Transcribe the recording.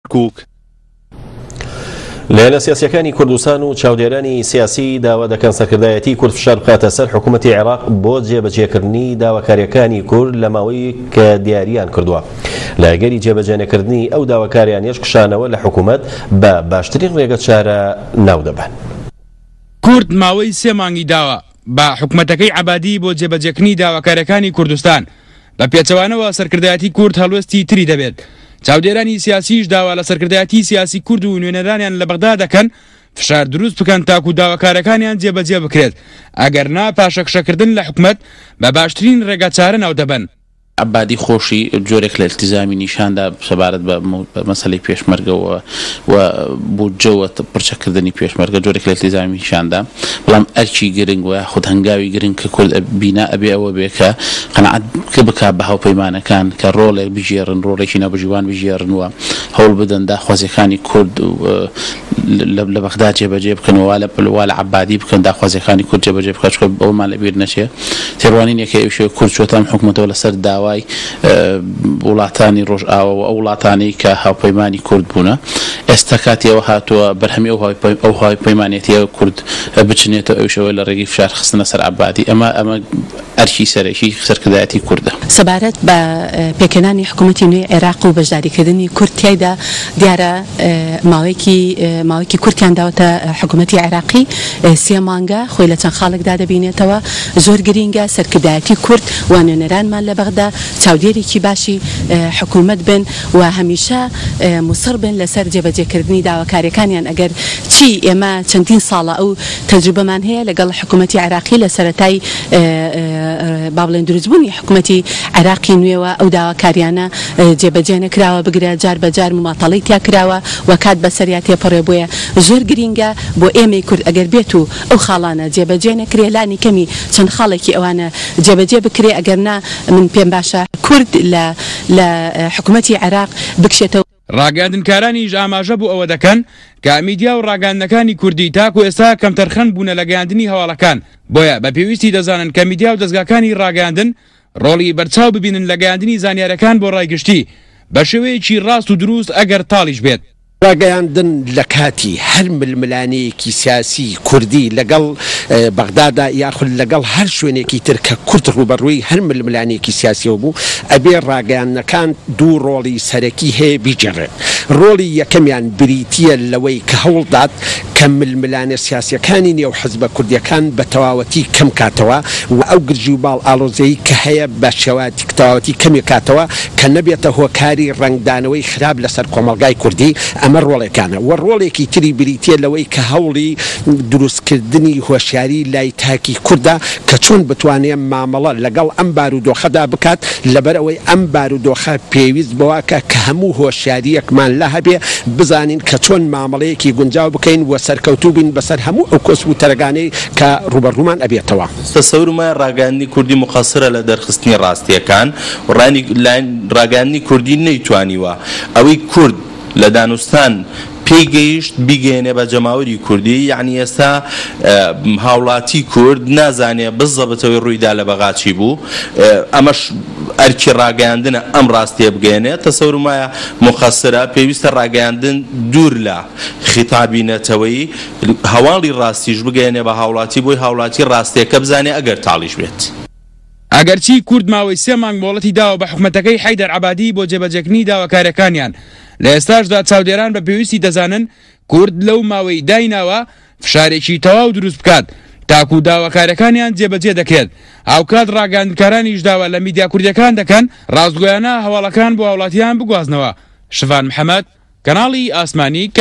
کەرکوک. لایەنە سیاسیەکانی کوردستان و چاودێرانی سیاسی داوا دەکەن سەرکردایەتی کورد فشار بخاتە سەر حکوومەتی عێراق بۆ جێبەجێکردنی داواکاریەکانی کورد لە ماوەی کە دیاریان کردووە. لە ئەگەری جێبەجێنەکردنی ئەو داواکاریانەش کشانەوە لە حکوومەت بە باشترین ڕێگەچارە ناودەبەن. کورد ماوەی سێ مانگی داوە بە حکومەتەکەی عەبادی بۆ جێبەجێکردنی داواکاریەکانی کوردستان، بە پێچەوانەوە سەرکردایەتی کورد هەڵوێستی تری دەبێت. چاودێرانی سیاسیش داوا لە سەرکردایەتی سیاسی کورد و نوێنەرانیان لە بەغدا دەکەن فشار دروست بکەن تاکو داواکارەکانیان جێبەجێ بکرێت، ئەگەر نا پاشەکشەکردن لە حکومەت بە باشترین ڕێگاچارە ناودەبەن. عەبادی خۆشی جۆرێک لە ئیلتیزامی نیشان دا سەبارەت بە مەسەلەی پێشمەرگە و و بودجە و پرچەکردنی پێشمەرگە جۆرێک لە ئیلتیزامی نیشان دا بەڵام ئەرکی گرنگ و یاخود هەنگاوی گرنگ کە کورد بینا ئەبێ ئەوە بێ کە قەناعەت بکا بە هاوپەیمانەکان کە ڕۆڵێک بگێڕن ڕۆڵێکی ناوبژیوان بگێڕن و هەوڵ بدەن داخوازیەکانی کورد لە بەغدا جێبەجێ بکەن و وا لە عەبادی بکەن داخوازیەکانی کورد جێبەجێ بکات چونکە ئەوەمان لەبیر نەچێ تێڕوانینێک هەیە ئەویش کورد چووەتە ئەم حکومەتەوە لەسەر داوای وڵاتانی ڕۆژئاوا و ئەو وڵاتانەی کە هاوپەیمانی کورد بوونە ئێستا کاتی ئەوە هاتووە بەرهەمی ئەو هاوپەیمانێتیە کورد بچنێتەوە ئەویش ئەوەیە لە ڕێگەی فشار خستنە سەر عەبادی ئەمە ئەمە ئەرکی سەرەکی سەرکردایەتی کوردە. سەبارەت بە پێکهێنانی حکوومەتی نوێی عێراق و بەشداریکردنی کورد تیایدا، دیارە ماوەیەکی ماوەیەکی کورتیان داوەتە حکوومەتی عێراقی، سێ مانگە، خۆی لە چەند خاڵێکدا دەبینێتەوە، زۆر گرینگە سەرکردایەتی کورد و نوێنەرانمان لە بەغدا چاودێرێکی باشی حکوومەت بن و هەمیشە موسڕ بن لەسەر جێبەجێکردنی داواکارییەکانیان، ئەگەر چی ئێمە چەندین ساڵە ئەو تەجروبەمان هەیە لەگەڵ حکوومەتی عێراقی لە سەرەتای با بڵێن دروستبوونی حکومەتی عێراقی نوێوە ئەو داواکاریانە جێبەجێ نەکراوە بگرە جار بە جار مماتەڵەی تیا کراوە و کات بەسەریا تێپەڕێ بۆیە زۆر گرینگە بۆ ئێمەی کورد ئەگەر بێت و ئەو خاڵانە جێبەجێ نەکرێ لانی کەمی چەند خاڵێکی ئەوانە جێبەجێ بکرێ ئەگەر نا من پێم باشە کورد لە لە حکومەتی عێراق بکشێتەوە. ڕاگەیاندنکارانیش ئاماژە بۆ ئەوە دەکەن کە میدیا و ڕاگەیاندنەکانی کوردی تاکو ئێستا کەمتەرخەم بوونە لە گەیاندنی هەواڵەکان، بۆیە بە پێویستی دەزانن کە میدیا و دەزگاکانی ڕاگەیاندن ڕۆڵی بەرچاو ببینن لە گەیاندنی زانیارەکان بۆ ڕای گشتی بە شێوەیەکی ڕاست و دروست ئەگەر تاڵیش بێت. ڕاگەیاندن لە کاتی هەر ململانێیەکی سیاسی کوردی لەگەڵ بەغدادا یاخود لەگەڵ هەر شوێنێکی تر کە کورد ڕووبەڕووی هەر ململانێیەکی سیاسیەوە بوو ئەبێ ڕاگەیاندنەکان دوو ڕۆڵی سەرەکی هەیە بیگێڕێت ڕۆڵی یەکەمیان بریتیە لەوەی کە هەوڵدات کە ململانێ سیاسیەکانی نێو حزبە کوردیەکان بە تەواوەتی کەم کاتەوە و ئەو گرژی و باڵ ئاڵۆزیەی کە هەیە بە تەواوەتی کەمی کاتەوە کە نەبێتە هۆکاری ڕەنگدانەوەی خراپ لەسەر کۆمەڵگای کوردی، ئەمە ڕۆڵێکانە و ڕۆڵێکی تری بریتیە لەوەی کە هەوڵی دروستکردنی هۆشیاری لای تاکی کوردە کە چۆن بتوانێ مامەڵە لەگەڵ ئەم بارودۆخەدا بکات، لەبەرئەوەی ئەم بارودۆخە پێویست بەوەکە کە هەموو هۆشیارییەکمان لا هەبێ بزانین کە چۆن مامەڵەیەکی گونجاو بکەین و سەرکەوتوو بین بەسەر هەموو ئەو کۆسپ و تەرەگانەی کە ڕووبەڕوومان ئەبێتەوە. تەسەورم وایە ڕاگەیاندنی کوردی موقەسرە لە دەرخستنی ڕاستییەکان و ڕاگەیاندنی کوردی نەیتوانیوە ئەوەی کورد لە دانوستان پێی گەیشت بیگەیەنێ بە جەماوەری کوردی، یەعنی ئێستا هاوڵاتی کورد نازانێ بزەبت ئەوەی ڕوویدا لە بەغا چی بوو، ئەمەش ئەرکی ڕاگەیاندنە ئەم ڕاستیە بگەیەنێ، تەسەورم وایە موقەسرە، پێویستە ڕاگەیاندن دوور لە خیتابی نەتەوەیی هەواڵی ڕاستیش بگەیەنێ بە هاوڵاتی بۆی هاوڵاتی ڕاستیەکە بزانێ ئەگەر تاڵیش بێت. ئەگەرچی کورد ماوەی سێ مانگ مۆڵەتی داوە بە حکومەتەکەی حەیدەر عەبادی بۆ جێبەجێکردنی داواکاریەکانیان، لە ئێستاشدا چاودێران بە پێویستی دەزانن کورد لەو ماوەی دایناوە فشارێکی تەواو دروست بکات تاکو داواکاریەکانیان جێبەجێ دەکرێت، هاوکات ڕاگەیاندنکارانیش داوا لە میدیا کوردیەکان دەکەن ڕاستگۆیانە هەواڵەکان بۆ هاوڵاتیان بگوازنەوە. شڤان محەمەد، کەناڵی ئاسمانی.